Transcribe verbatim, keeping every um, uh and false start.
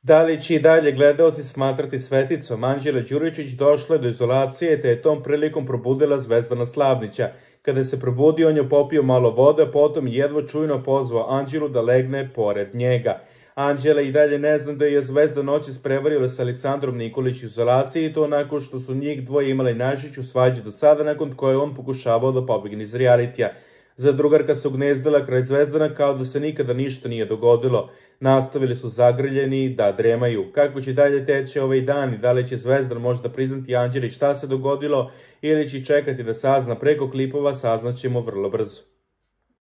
Da li će i dalje gledaoci smatrati sveticom? Anđela Đuričić došla je do izolacije te je tom prilikom probudila Zvezdana Slavnića. Kada se probudio, on je popio malo vode, potom jedva čujno pozvao Anđelu da legne pored njega. Anđela i dalje ne zna da je Zvezda noćas prevarila sa Aleksandrom Nikolić u izolaciji i to nakon što su njih dvoje imali najžešću svađu do sada, nakon koje on pokušavao da pobegne iz realitija. Zadrugarka se ugnezdila kraj Zvezdana kao da se nikada ništa nije dogodilo. Nastavili su zagrljeni da dremaju. Kako će dalje teći ovaj dan i da li će Zvezdan možda priznati Anđeli šta se dogodilo ili će čekati da sazna preko klipova, saznaćemo vrlo brzo.